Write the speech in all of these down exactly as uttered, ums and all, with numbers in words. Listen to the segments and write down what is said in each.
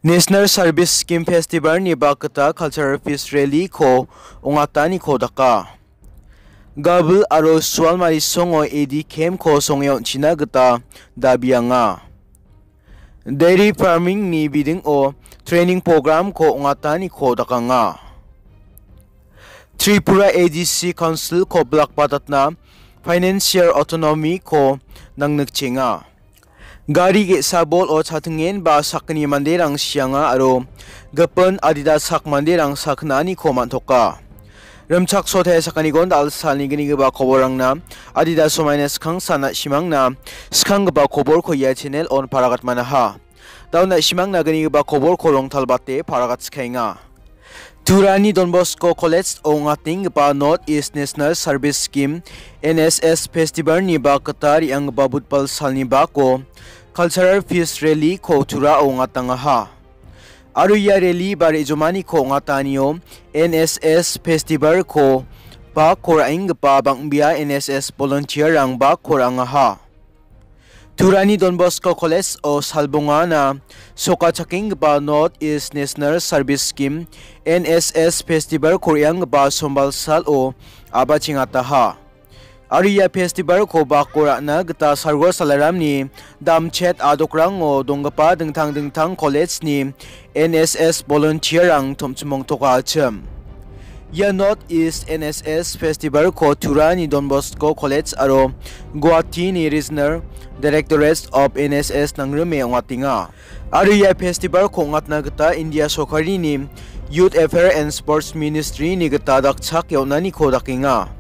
National Service Scheme Festival-ni bakgita Cultural Fest Rally-ko ong·ataniko daka. Gabil aro Sualmari songo A D camp-ko songe on·china gita dabianga. Dairy farming-ni bidingo training program-ko ong·ataniko dakanga. Tripura A D C Council-ko bilakbatatna financial autonomy-ko nangnikchenga. Gari ge·sa bol-o chatingenba sakgni manderang sianga aro gipin adita sak manderang sakgnaniko man·toka. Rimchaksote sakgnigon dal·salni gnigipa koborrangna adita somaina skangsa na·simangna skanggipa koborko ia channel-on paragatmanaha. Dao na·simangna gnigipa koborko rongtalbate paragatskaenga. Turani Don Bosco College ong·atenggipa North East National Service Scheme, N S S Festival-ni bakgita re·anggipa budbal salni bako Cultural Fest Rally-ko Turao ong·atangaha. Aro ia rally ba re·jomaniko ong·atanio N S S Festival-ko bako ra·enggipa bang·bea N S S volunteer-rang bako ra·angaha. Turani Don Bosco College-o salbongana sokachakenggipa North East National Service Scheme, N S S Festival-ko re·anggipa sombal salo a·bachengataha. Aro ia festival-ko bako ra·na gita Sargo Salaramni damchet adokrango donggipa dingtang dingtang college-ni N S S volunteer-rang tom·chimongtoka achim. Ia North East N S S Festival-ko Turani Don Bosco College aro Guwahati-ni Regional Directorate of N S S nangrime ong·atenga. Aro ia festival-ko ong·atna gita India sorkarini Youth Affairs and Sports Ministry-ni gita dakchake on·aniko dakenga.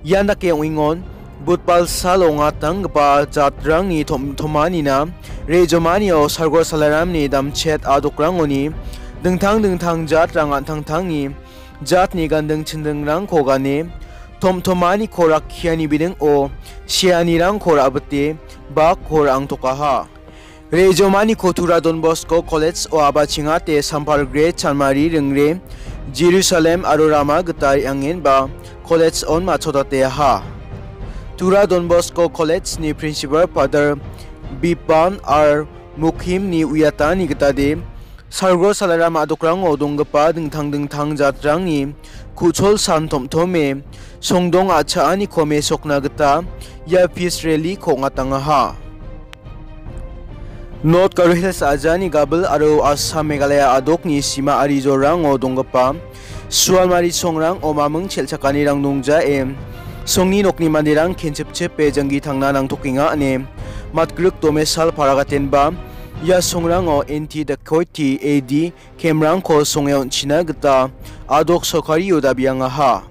Ian dake ong·engon, budbal salo ong·atanggipa jatrangni tom-, tomanina, re·jomanio Sargo Salaramni damchet adokrangoni dingtang dingtang jatrang an·tangtangni jatni ganding chindingrangko gane, tom-, tomaniko rakkiani bidingo seanirangko ra·bite bakko ra·angtokaha. Re·jomaniko Tura Don Bosco College-o a·bachengate Sampar Gre, Chanmari Ringre, Jerusalem aro Rama gita re·angenba college-on matchotateaha. Tura Don Bosco College-ni Principal Father Bipan R Mukhim-ni uiatani gitade, Sargo Salaram a·dokrango donggipa dingtang dingtang jatrangni ku·chol san tom·tome songdong a·chaaniko mesokna gita ia peace rally-ko ong·atangaha. North Garo Hills ajani gabil aro Assam Meghalaya a·dokni sima arijorango donggipa Sualmari songrango maming chelchakanirang dongjae, songni nokni manderang kenchipchipe janggi tangna nangtokenga ine matgrik domesal paragatenba ia songrango anti dacoity A D camp-rangko songe on·china gita a·dok sorkario dabiangaha.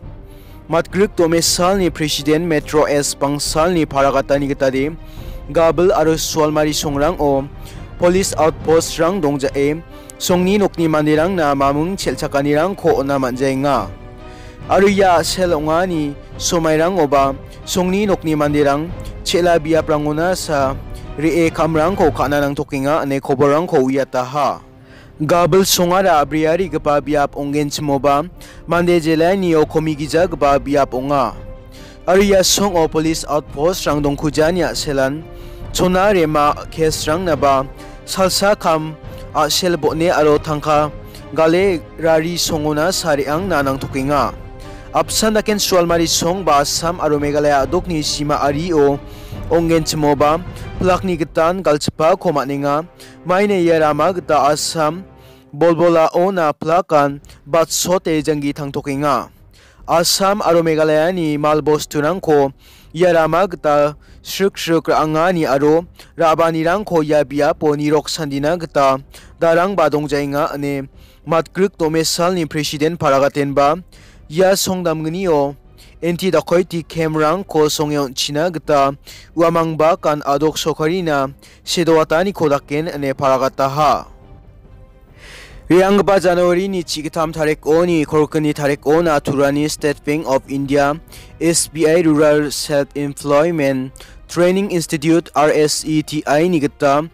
Matgrik domesalni president Metro S Bangsalni paragatani gitade gabil aro Sualmari songrango police outpost-rang dongjae songni nokni manderangna mamung chelchakanirangko on·a man·jaenga. Aro ia a·sel ong·ani somairangoba songni nokni manderang chel·a biaprangona sa re·e kamrangko ka·na nangtokenga ine koborrangko uiataha. Gabil songara briarigipa biap ong·genchimoba mande jelainio komigijagipa biap ong·a. Aro ia songo police outpost-rang dongkujani a·selan chona rema case-rangnaba salsa kam a·sel bon·e aro tangka gale rari songona sa re·angna nangtokenga. Apsan daken Sualmari song ba Assam aro Meghalaya a·dokni sima ario ong·genchimoba plakni gitan galchipako man·enga. Maina ia rama gita Assam bolbolaona plakan batsote janggi tangtokenga. Assam aro Meghalayani mal bosturangko ia rama gita srik srik ra·angani aro ra·baanirangko ia biapo nirok sandina gita darangba dongjaenga ine matgrik domesalni president paragatenba ia songdamgnio anti dacoity camp-rangko songe on·china gita uamangbakan a·dok sorkarina sedoataniko daken ine paragataha. Re·anggipa January-ni chi gittam tarikoni kolgni tarikona Turani State Bank of India, S B I Rural Self Employment Training Institute, R S E T I-ni gita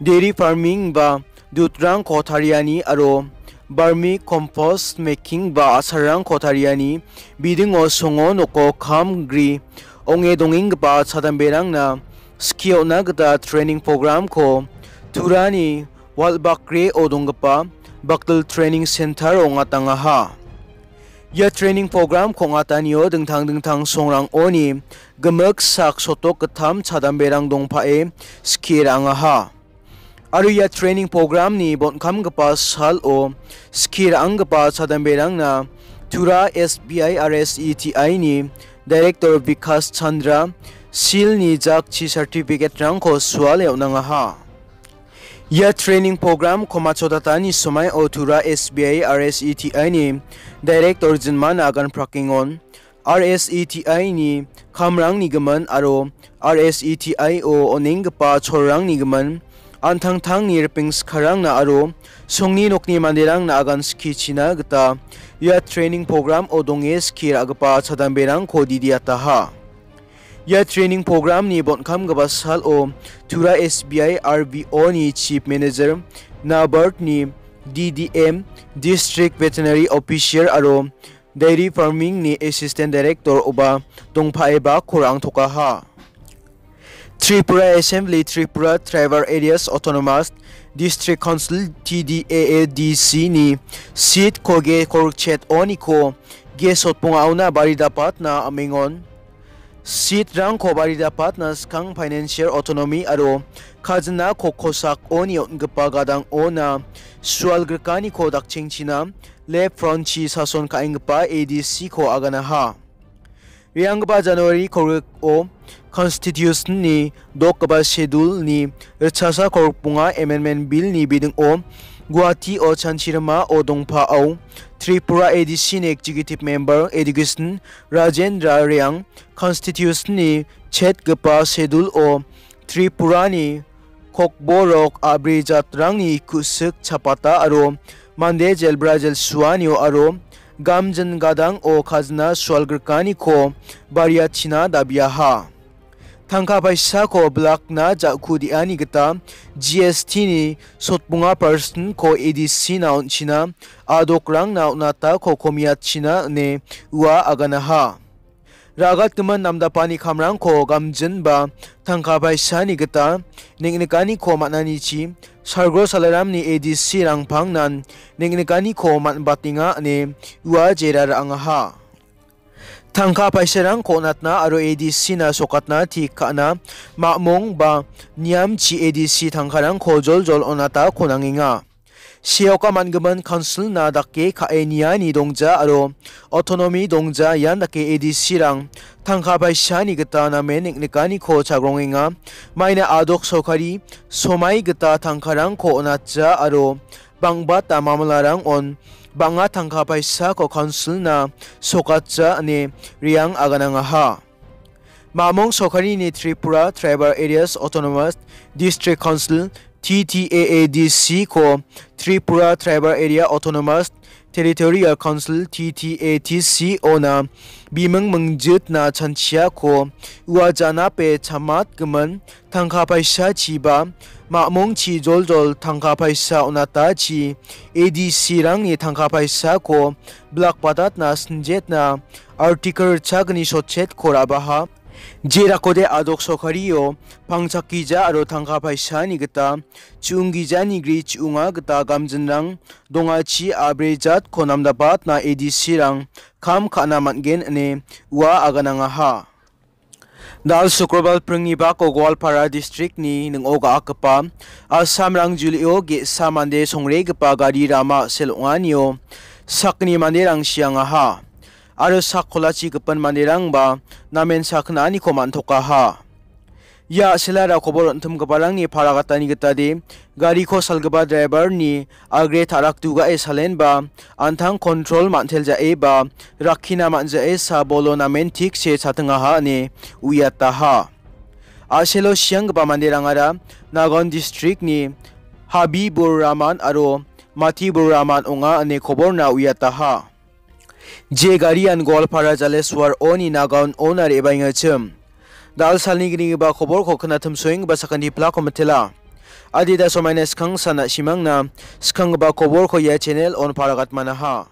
dairy farming ba dutrangko tariani aro vermi compost making ba asarrangko tariani bidingo songo noko kam gri ong·e dongenggipa chadamberangna skie on·na gita training program-ko Turani Walbakre-o donggipa Bakdil Training Center-o ong·atangaha. Ia training program-ko ong·atanio dingtang dingtang songrangoni gimik sak sotok gittam chadamberang dongpae skie ra·angaha. Aro ia training program-ni bon·kamgipa salo skie ra·anggipa chadamberangna Tura S B I R S E T I-ni Director Vikas Chandra seal-ni jakchi certificate-rangko suale on·angaha. Ia training program-ko machotatani somaio Tura S B I R S E T I-ni Director Jinmana Agan Prakingon, R S E T I-ni kamrangni gimin aro R S E T I-o on·enggipa cholrangni gimin, an·tangtangni ripeng sikarangna aro songni nokni manderangna agan skichina gita ia training program-o donge skie ra·gipa chadamberangko didiataha. Ia training program-ni bon·kamgipa salo Tura S B I R B O-ni Chief Manager, Nabard-ni D D M, District Veterinary Officer aro Dairy Farming-ni Assistant Director-oba dongpaeba korangtokaha. Tripura Assembly, Tripura Tribal Areas Autonomous District Council, T D A A D C-ni seat-ko ge korokchet-oniko ge sotbongaona baridapatna amengon. Seat-rangko baridapatna skang financial autonomy aro kajina kokkosakoni on·gipa gadang-ona sualgrikaniko dakchengchina left front-chi sason ka·enggipa A D C-ko aganaha. Re·anggipa January kolgriko Constitution-ni dokgipa Schedule-ni ritchasa kolgrikbonga Amendment Bill-ni bidingo Guwahati-o chanchirimao dongpao Tripura A D C-ni Executive Member Education Rajendra Reang Constitution-ni chetgipa Schedule-o Tripurani kokborok abrijatrangni ku·sik chapata aro mande jelbra jelsuanio aro gamjin gadang-o kajina sualgrikaniko bariachina dabiaha. Tangka paisako blakna ja·ku de·ani gita G S T-ni sotbonga percent-ko A D C-na on·china adokrangna on·atako komiatchina ine ua aganaha. Ra·gatgimin namdapani kamrangko gamjinba tangka paisani gita neng·nikaniko man·anichi Sargo Salaramni A D C-rangpangnan neng·nikaniko man·batenga ine ua jera ra·angaha. Tangka paisarangko on·atna aro A D C-na sokatna tik ka·na ma·mong ba niamchi A D C tangkarangko joljol on·atako nangenga. Seoka man·gimin council-na dake ka·e niani dongja aro autonomy dongja, ian dake A D C-rang tangka paisani gita namen neng·nikaniko chagrongenga. Maina adok sorkari somai gita tangkarangko on·atja aro bang·bata mamalarangon bang·a tangka paisako council-na sokatja ine Reang aganangaha. Ma·mong sorkarini Tripura Tribal Areas Autonomous District Council, T T A A D C-ko Tripura Tribal Area Autonomous Territorial Council, T T A T C-ona biming mingjitna chanchiako ua janape chamatgimin tangka paisachiba ma·mongchi joljol tangka paisa on·atachi A D C-rangni tangka paisako blakbatatna sinjetna Article ritchagni sotchetko ra·baha. Jerakode adok sorkario pangchakgija aro tangka paisani gita chu·onggijani gri chu·onga gita gamjinrang dongachi abrejatko namdapatna A D C-rang kam ka·na man·gen ine ua aganangaha. Dal Sukrobal pringni bako Goalpara districtni ning·o ga·akgipa Assam rangjulio ge·sa mande songregipa gari rama sel ong·anio sakgni manderang siangaha. Aro sak kolachi gipin manderangba namen sakgnaniko man·tokaha. Ia a·selara kobor on·timgiparangni paragatani gitade gariko salgipa driver-ni agre ta·rakdugae salenba an·tang kontrol man·teljaeba rakkina man·jae sabolo namen tikse chatingaha ine uiataha. A·selo sianggipa manderangara Nagaon districtni Habibur Rahman aro Matibur Rahman ong·a ine koborna uiataha. Je garian Goalpara Jaleswar-oni Nagaon-ona re·baengachim. Dal salni gnigipa koborko knatimsoenggipa sakanti plako mitela. Adita somaina skangsan na·simangna skanggipa koborko ia channel-on paragatmanaha.